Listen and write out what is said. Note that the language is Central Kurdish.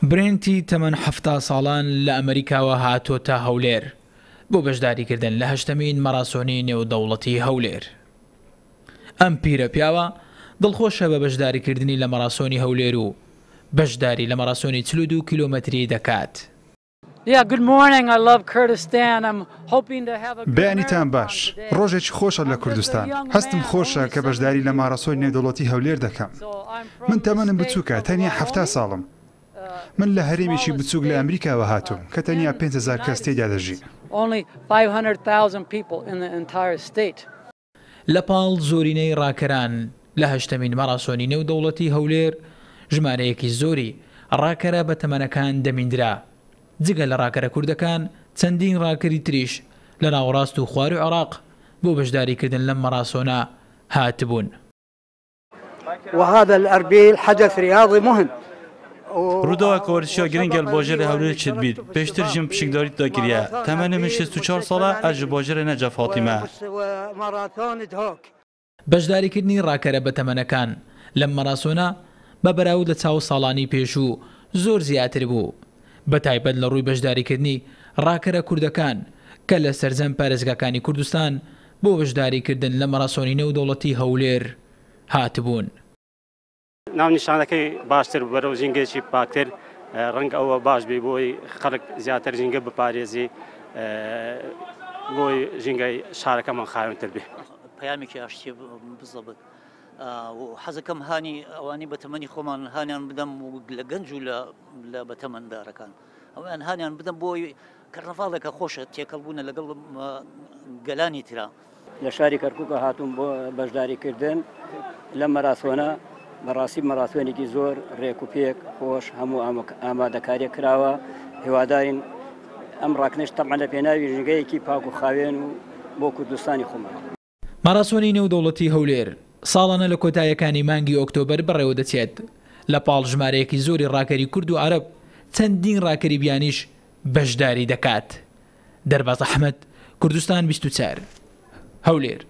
برێنتی تەمەن 70 ساڵان لە ئەمریکاوە هاتۆتە هەولێر بۆ بەشداریکردن لە هەشتەمین مەراسۆنی نێودەوڵەتی هەولێر. ئەم پیرە پیاوە دڵخۆشە بە بەشداریکردنی لە مەراسۆنی هەولێر و بەشداری لە مەراسۆنی 42 کیلۆمەتری دەکات. بەیانیتان باش، ڕۆژێکی خۆشە لە کوردستان، هەستم خۆشە کە بەشداری لە ماڕاسۆنی نێودەوڵەتی هەولێر دەکەم. من تەمەنم بچووکە، تەنیا 70 ساڵم. من لە هەرێمێکی بچووک لە ئەمریکاوە هاتووم کە تەنیا 5000 کەس تێیدا دەژین. لە پاڵ زۆرینەی ڕاکەران لە هەشتەمین مەراسۆنی نێودەوڵەتی هەولێر، ژمارەیەکی زۆری ڕاکەرە بەتەمەنەکان دەمیندرا. جگە لە ڕاکەرە کوردەکان، چەندین ڕاکەری تریش لە ناوەڕاست و خواروو عێراق بۆ بەشداریکردن لەم مەراسۆنە هاتبوون. وهذا الاربيل حدث رياضي مهم. ڕووداوێکە وەرزشیە گرنگە لە باژێرێ هەولێر چێدبیت، پێشتر ژم پشکداریت دا کریە، تەمەنێ من 64 ساڵە، ئەز ژ باژێرێ نەجەف هاتیمە. بەشداریکردنی ڕاکەرە بەتەمەنەکان لەم مەراسۆنە بە بەراورد لە چاو ساڵانی پێشوو زۆر زیاتر بوو، بەتایبەت لە ڕووی بەشداریکردنی ڕاکەرە کوردەکان کە لە سەرجەم پارێزگاکانی کوردستان بۆ بەشداریکردن لە مەراسۆنی نێودەوڵەتی هەولێر هاتبوون. ناونیشانەکەی باشتر بەرەو ژینگەیەکی پاکتر ڕەنگە ئەوە باش بێ بۆی خەڵک زیاتر ژینگە بپارێزی بۆی ژینگەی شارەکەمان خاوێنتر بێ. پەیامێکی ئاشتیە بزەبت و حەزەکەم هانی ئەوانی بەتەمەنی خۆمان هانیان بدەم و لە گەنج و لە بەتەمەندارەکان ئەویان هانیان بدەم بۆی کەرنەڤاڵێکە خۆشە تێکەڵ بوونە لەگەڵ گەلانی ترا. لە شاری کەرکوکە هاتووم بۆ بەشداری کردن لەم مەراسۆنە، بەڕاستی مەراسۆنێکی زۆر ڕێک و پێک خۆش هەموو ئامادەکاریە کراوە، هیوادارین ئەم ڕاکنەش تەبعەن لە پێناوی ژینگەیەکی پاک و خاوێن و بۆ کوردستانی خۆمان. ماراسۆنی نێودەوڵەتی هەولێر ساڵانە لە کۆتاییەکانی مانگی ئۆکتۆبەر بەڕێوەدەچێت، لە پاڵ ژمارەیەکی زۆری ڕاکەری کورد و عەرەب، چەندین ڕاکەری بیانیش بەشداری دەکات. دەرباز ئەحمەد، کوردستان 24، هەولێر.